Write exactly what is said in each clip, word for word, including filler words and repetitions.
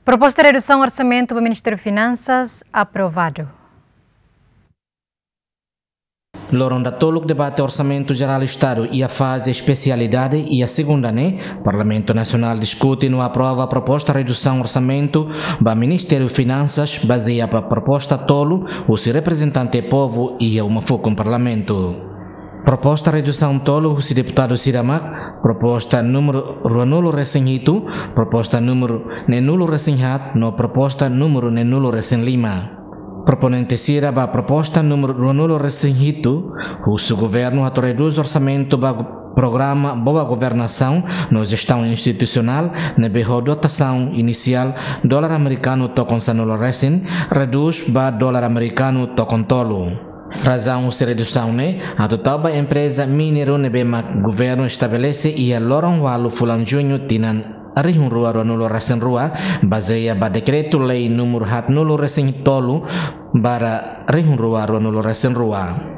Proposta redusaun orsamentu ba Ministériu Finansas aprovadu. Loron datoluk debate Orsamentu Jerál Estadu iha faze espesialidade iha segunda ne'e, Parlamentu Nasionál diskute no aprova proposta redusaun orsamentu ba Ministériu Finansas bazeia ba proposta tolu husi reprezentante povu iha uma fukun Parlamentu. Proposta redusaun tolu husi deputadu sira mak, proposta númeru ruanulu resin hitu, proposta númeru neenulu resin haat, no proposta númeru neenulu resin lima. Proponente sira ba proposta númeru ruanulu resin hitu, husu governu atu redús orsamentu ba programa Boa Governasaun no Jestaun Institusionál ne'ebé ho dotasaun inisiál dolar amerikanu tokon sanulu resin, redús ba dolar amerikanu tokon tolu. Razaun husi redusaun ne'e atu tau ba empreza mineiru ne'ebé mak governu estabelese iha loron ualu fulan Juñu tinan rihun rua ruanulu resin rua, bazeia ba dekretu-lei númeru haatnulu resin tolu barra rihun rua ruanulu resin rua.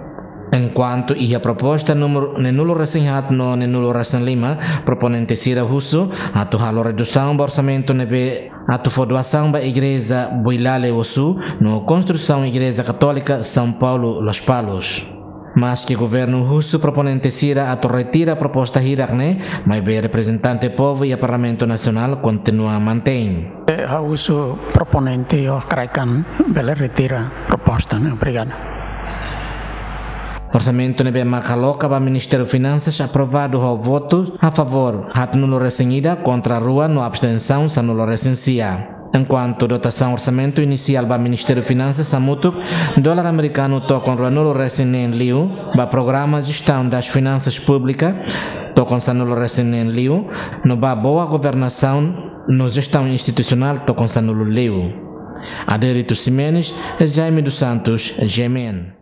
Enkuantu iha proposta númeru neenulu resin haat no neenulu resin lima, proponente sira husu atu halo redusaun ba orsamentu ne'ebé atu fó doasaun ba Igreja Builale Osu no konstrusaun Igreja Katólika São Paulo Lospalos. Maski governu husu proponente sira atu retira proposta hirak ne'e, maibé reprezentante povu iha Parlamentu Nasionál kontinua mantein. Eh, ha'u husu proponente ho kraik an bele retira proposta ne'e. Obrigadu. Orsamentu ne'ebé mak aloka ba Ministériu Finansas aprovadu ho votu a favór haatnulu resin ida, kontra rua no abstensaun sanulu resin sia. Enkuantu dotasaun orsamentu inisiál ba Ministériu Finansas hamutuk dolar amerikanu tokon ruanulu resin neen liu, ba programa Jestaun das Finansas Públikas tokon sanulu resin neen liu, no ba Boa Governasaun no Jestaun Institusionál tokon sanulu liu. Adérito Ximenes, Jaime dos Santos, G M N.